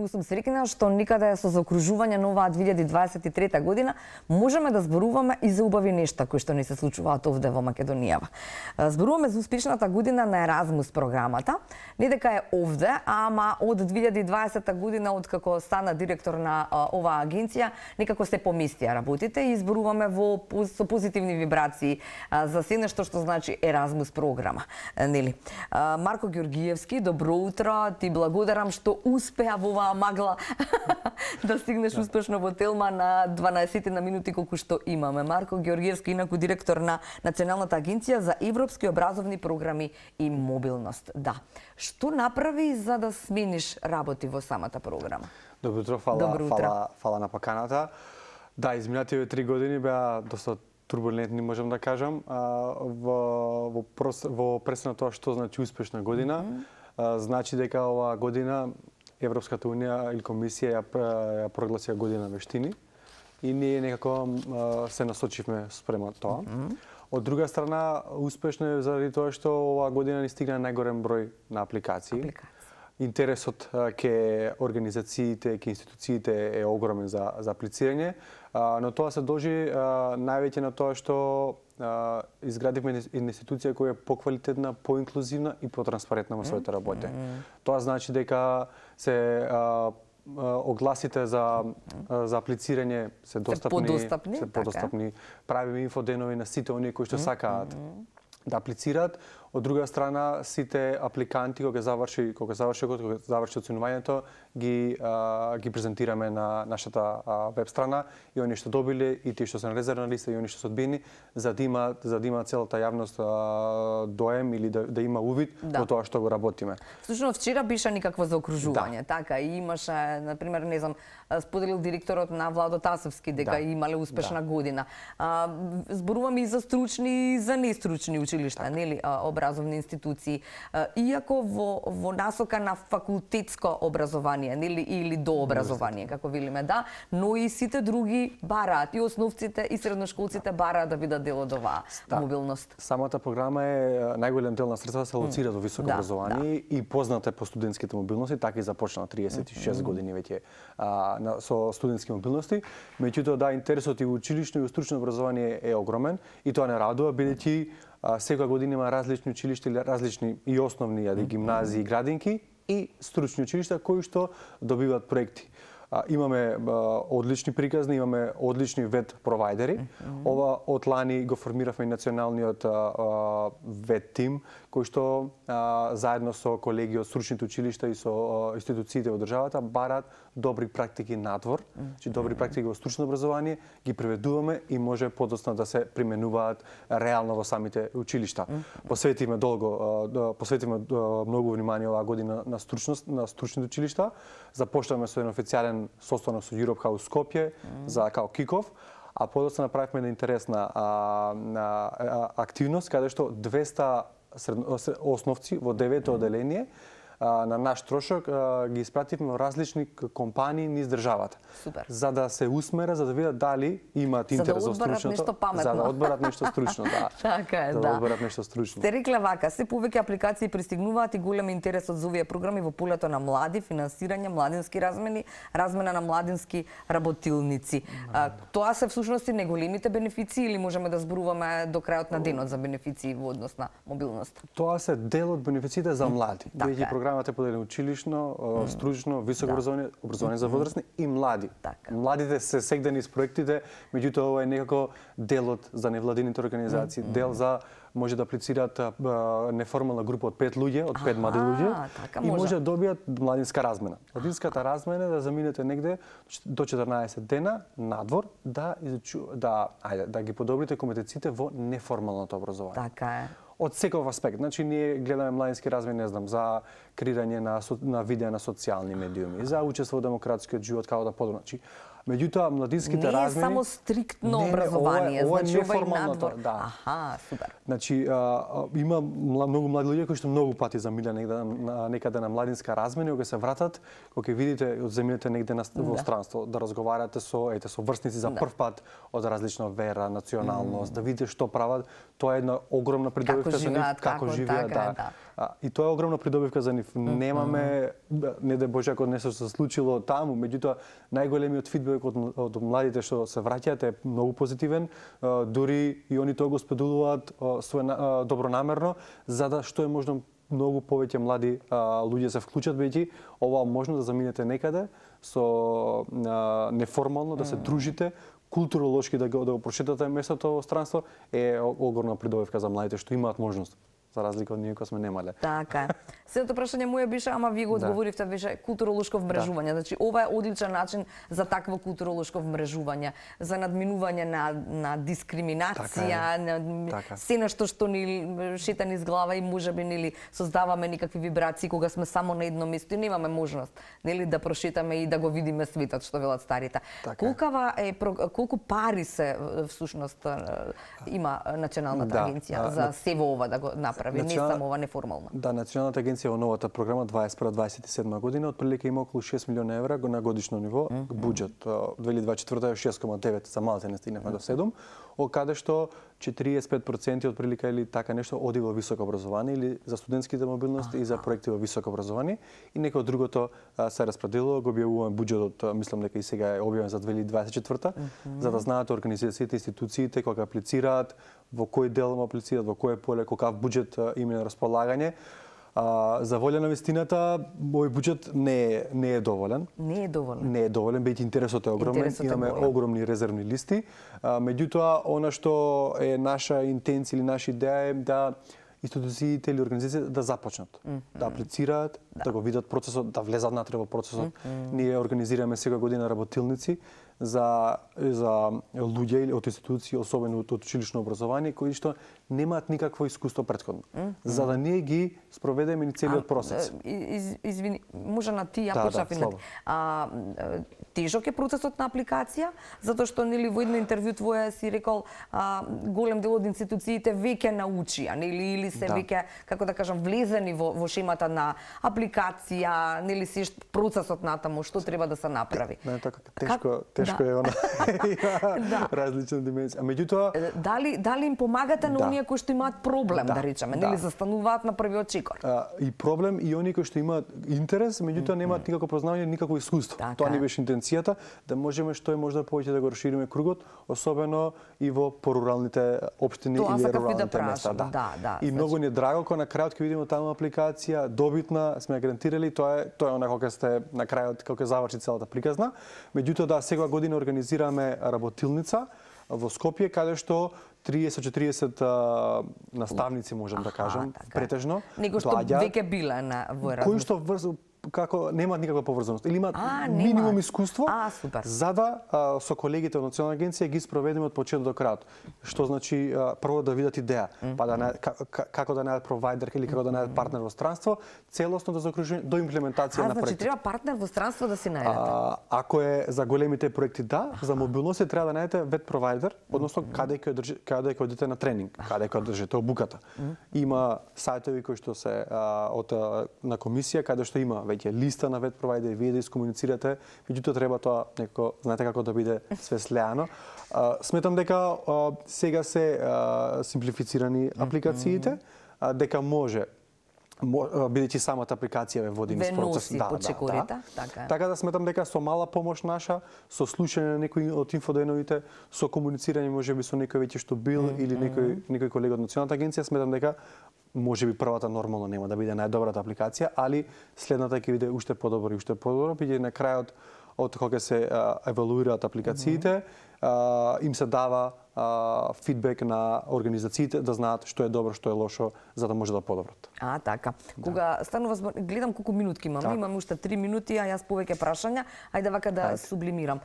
Многу сум среќна што никаде со заокружување на оваа 2023 година можеме да зборуваме и за убави нешта кои што ни се случуваат овде во Македонијава. Зборуваме за успешната година на Еразмус програмата. Не дека е овде, ама од 2020 година, откако стана директор на оваа агенција, некако се поместија работите и зборуваме со позитивни вибрации за се нешто што значи Еразмус програма. Нели? Марко Ѓоргиевски, добро утро, ти благодарам што успеа во оваа магла да стигнеш успешно во Телма на 12 на минути колку што имаме. Марко Ѓоргиевски, инаку директор на Националната агенција за европски образовни програми и мобилност. Да. Што направи за да смениш работи во самата програма? Добро утро, фала на поканата. Да, изминативе 3 години беа доста турбулентни, можам да кажам, во пресна тоа што значи успешна година. Значи дека оваа година Европската унија или комисија ја прогласија година вештини и ние некако се насочивме спрема тоа. Од друга страна, успешно е заради тоа што оваа година ни стигна најголем број на апликации. Интересот ке организациите, ке институциите е огромен за аплицирање, но тоа се должи највеќе на тоа што изградивме институција која е поквалитетна, поинклузивна и потранспарентна во своите работи. Тоа значи дека се огласите за аплицирање се подостапни, правиме инфоденови на сите оние кои што сакаат да аплицираат. Од друга страна, сите апликанти кога заврши оценувањето, ги презентираме на нашата веб страна и оние што добиле и тие што се на резервна листа и оние што се одбиени, за да има целата јавност доем или да има увид во тоа што го работиме. Всушност вчера биша никакво заокружување, така и имаше, на пример, не знам, споделил директорот на Владо Тасовски дека имале успешна година. Зборуваме и за стручни и за нестручни училишта, нели, образовни институции, иако во насока на факултетско образование, нели, или дообразование, како велиме, да, но и сите други бараат, и основците и средношколците бараат да бидат дел од оваа мобилност. Самата програма е најголем дел на средства се лоцира во високо образование и позната е по студентските мобилности, така и започна 36 години веќе со студентски мобилности. Меѓутоа, да, интересот и во училишно и во стручно образование е огромен и тоа не радува, бидејќи секоја година има различни училишта или различни и основни гимназии и градинки и стручни училишта кои што добиваат проекти. Имаме одлични приказни, имаме одлични веб провайдери. Ова од лани го формиравме и националниот веб тим, кој што заедно со колеги од стручните училишта и со институциите во државата бараат добри практики надвор, добри практики во стручно образование, ги преведуваме и може подоцна да се применуваат реално во самите училишта. Посветиме многу внимание оваа година на стручните училишта. Започнавме со еден официјален состанок со Europe House Скопје за као киков, а подоцна направивме една интересна активност каде што 200 основци во 9-то оделение на наш трошок ги испративме во различни компании низ државата. Супер. За да се усмерат, за да видат дали имаат интерес за стручното, за да одберат нешто стручно, да. Така е, да. Да одберат нешто стручно. Сте рекле вака, се повеќе апликации пристигнуваат и голем интересот за овие програми во полето на млади, финансирање, младински размени, размена на младински работилници. Тоа се всушност и неголемите бенефиции или можеме да зборуваме до крајот на денот за бенефиции во однос на мобилност? Тоа се дел од бенефициите за млади. Програмата е поделена училишно, стручно, високо образование за возрастни и млади. Младите се сегдени с проектите, меѓутоа ова е некако делот за невладините организации, дел за може да аплицираат неформална група од 5 луѓе, од 5 млади луѓе и може да добијат младинска размена. Младинската размена е да заминете негде до 14 дена надвор да ги подобрите компетенциите во неформалното образование. Така е. Од секој аспект. Значи, ние гледаме младински размени, не знам, за креирање на видеа на социјални медиуми, за учество во демократскиот живот, како да подобро. Значи, Меѓутоа младинските не размени е само стриктно образование, ова е значи ова е неформалното, надвор. да. Аха, супер. Значи има многу млади луѓе кои што многу пати замиле некаде на младинска размени, кога се вратат, кога ќе видите од земјите негде во странство, да разговарате со врсници за прв пат од различна вера, националност, да видите што прават, тоа е една огромна придобивка за нив, како живеат, да. И тоа е огромна придобивка за нив. Немаме, не да Боже, ако нешто се случило таму, меѓутоа најголемиот фидбек од младите што се враќаат е многу позитивен, дури и они тоа го споделуваат добронамерно, за да што е можно многу повеќе млади луѓе се вклучат, бидејќи ова можно да заминете некаде со неформално да се дружите, културолошки да го прошетате местото во странство е огромна придобивка за младите што имаат можност, за разлика од ние кои сме немале. Така е. Следното прашање моја беше, ама вие го одговоривте, беше културолошко вмрежување. Значи ова е одличен начин за такво културолошко вмрежување, за надминување на дискриминација, на се нешто што ни шета низ глава и можеби нели создаваме никакви вибрации кога сме само на едно место и немаме можност нели да прошетаме и да го видиме светот, што велат старите. Колку пари се всушност има Националната агенција за сево ова да го направи, не само ова неформално? Да, Националната агенција во новата програма 21-27 година отприлика има околу 6 милиони евра на годишно ниво буџет. 2024 е 6,9, за малце не стигнавме до 7, од каде што 45% отприлика или така нешто оди во високо образование или за студентските мобилности и за проекти во високо образование и некој другото се распределува, го објавуваме буџетот, мислам дека и сега е објавен за 2024 за да знаат организациите, институциите кога аплицираат, во кој дел аплицираат, во кој поле, какав буџет има на располагање. За волја на вистината, овој буџет не е доволен. Не е доволен. Не е доволен, бидејќи интересот е огромен, имаме огромни резервни листи. Меѓутоа, она што е наша интенција или наша идеја е да институциите или организациите да започнат, да аплицираат, да го видат процесот, да влезат натре во процесот. Ние организираме сега година работилници за луѓе или од институции, особено од училишно образование, кои што немаат никакво искуство претходно, за да ние ги спроведеме ни целиот процес. Извини, може на ти ја почнав иначе. Тежок е процесот на апликација, затоа што нели во едно интервју твое си рекол голем дел од институциите веќе научија, нели или се веќе, како да кажам, влезени во шемата на апликација, нели се процесот натаму што треба да се направи. Тешко е она. Различна димензија. Меѓутоа, дали им помагате на оние кои што имаат проблем, да речеме, нели застануваат на првиот чекор? И проблем и оние кои што имаат интерес, меѓутоа немаат никакво познавање, никакво искуство. Тоа ни беше интенцијата, да можеме што е можда повеќе да го расшириме кругот, особено и во поруралните општини или руралните места. И многу ни е драго кога на крајот ќе видиме таму апликација добитна, сме ја гарантирали, тоа е она кога сте на крајот кога заврши целата приказна. Меѓутоа секоја година организираме работилница во Скопје, каде што 30-40 наставници, можам да кажам, претежно, него што веќе биле во Еразмус. Кои што како немаат никаква поврзаност или имаат минимум искуство, за да со колегите од Национална агенција ги спроведеме од почеток до крајот. Што значи прво да видат идеја, па да како да најдат провајдер или како да најдат партнер во странство, целосно да заокружи до имплементација на проектот. Значи треба партнер во странство да си најдете. Ако е за големите проекти за мобилност треба да најдете веб провајдер, односно каде ќе одите на тренинг, каде ќе одржите обуката. Има сајтови кои што се на комисија каде што има веќе листа на веб провајдери, вие да искомуницирате, меѓутоа треба тоа некако, знаете како да биде све слеано. Сметам дека сега се симплифицирани апликациите, дека може бидејќи самата апликација ве води низ процес. Така да сметам дека со мала помош наша, со слушање на некои од инфоденовите, со комуницирање можеби со некој веќе што бил или некој колега од Националната агенција, сметам дека можеби првата нормално нема да биде најдобрата апликација, али следната ќе биде уште подобро и уште подобро, бидејќи на крајот од кога се евалуираат апликациите, им се дава фидбек на организациите да знаат што е добро, што е лошо, за да може да подобрат. Така. Кога станува збор, гледам колку минутки имаме, имаме уште 3 минути, а јас повеќе прашања, ајде вака да сублимирам.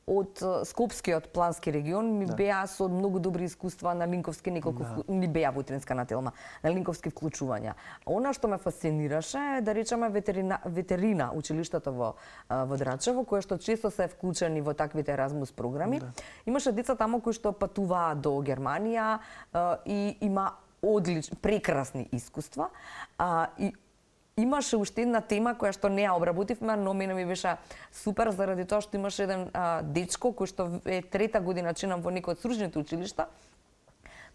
од Скопскиот плански регион ми беа со многу добри искуства на линковски ни беа во Утринска телма, на линковски вклучувања. Она што ме фасцинираше е да речеме ветерина училиштата во Драчево, кои што често се вклучени во таквите Еразмус програми. Имаше деца таму кои што патуваа до Германија и има прекрасни искуства. И имаше уште една тема која што не ја обработивме, но мене ми беше супер заради тоа што имаше еден дечко кој што е трета година чинам во некој од стручните училишта.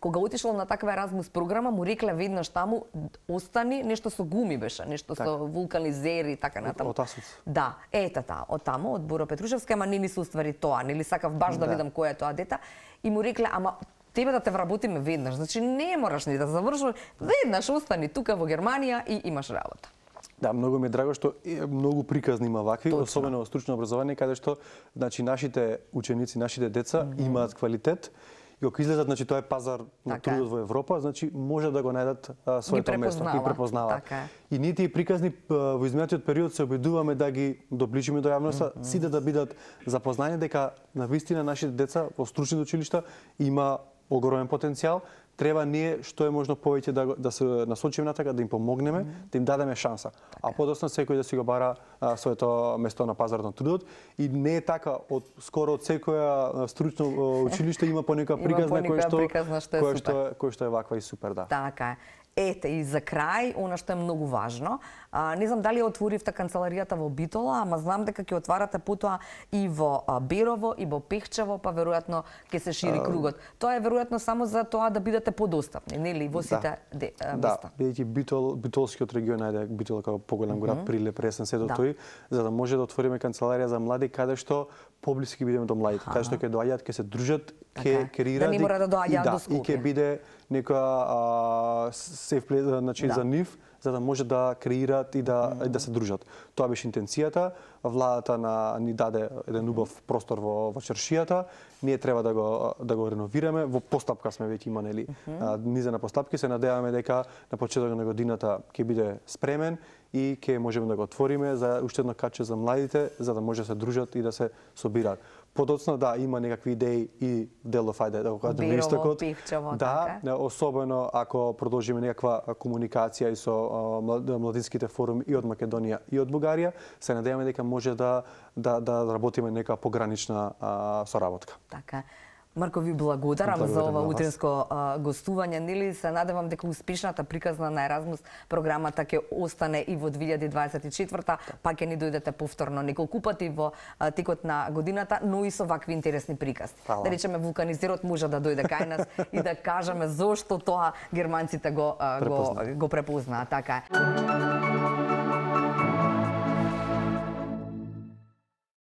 Кога отишол на таква Еразмус програма, му рекле веднаш таму остани, нешто со гуми беше, нешто со вулканизери и така натаму. Од Асуц. Да, од таму, од Боро Петрушевски, ама не ми се уствари тоа, нели сакав баш да видам кој е тоа дете и му рекле, ама тебе да те вработиме веднаш, значи не мораш ни да завршуваш, веднаш остани тука во Германија и имаш работа. Да, многу ми е драго што многу приказни има вакви, особено во стручно образование, каде што значи нашите ученици, нашите деца имаат квалитет и кога излезат, значи тоа е пазар на трудот во Европа, значи може да го најдат своето место и препознаваат. И ние тие приказни во изминатиот период се обидуваме да ги доближиме до јавноста, сите да бидат запознани дека навистина нашите деца во стручните училишта има огромен потенцијал. Треба ние што е можно повеќе да се насочиме на така, да им помогнеме, да им дадеме шанса. А подоцна секој да си го бара своето место на пазарот на трудот. И не е така, скоро од секоја стручно училиште има по некоја приказна кој што е ваква и супер, да. Така е. Ете, и за крај, она што е многу важно, не знам дали отворивте канцеларијата во Битола, ама знам дека ќе отварате потоа и во Берово, и во Пехчево, па веројатно ќе се шири кругот. Тоа е веројатно само за тоа да бидете подостапни, нели, во сите места. Да, бидејќи Битолскиот регион, ајде, Битола како поголем град, Прилеп, Ресен, се до тој, за да може да отвориме канцеларија за млади, каде што поблиски бидеме до младите, каде што ќе доаѓаат, ќе се дружат, ќе креираат, да не мора да доаѓаат до Скопје. И ќе биде некоја сеф плес, значи за нив, за да може да креираат и да се дружат. Тоа беше интенцијата. Владата ни даде еден убав простор во чаршијата. Ние треба да го реновираме. Во постапка сме веќе има, нели, низена постапки. Се надеваме дека на почетокот на годината ќе биде спремен и ќе можеме да го отвориме за уште едно каче за младите, за да може да се дружат и да се собираат. Подоцна, да, има некакви идеи и делов, ајде да го кажеме на истокот. Да, особено ако продолжиме некаква комуникација и со младинските форуми и од Македонија и од Бугарија, се надеваме дека може да работиме нека погранична соработка. Така. Марко, ви благодарам за ова утринско гостување. Нели се надевам дека успешната приказна на Еразмус програмата ќе остане и во 2024-та, па ќе ни дојдете повторно неколку пати во текот на годината, но и со вакви интересни приказни. Да речеме, вулканизерот може да дојде кај нас и да кажеме зошто тоа германците го препознаат. Така е.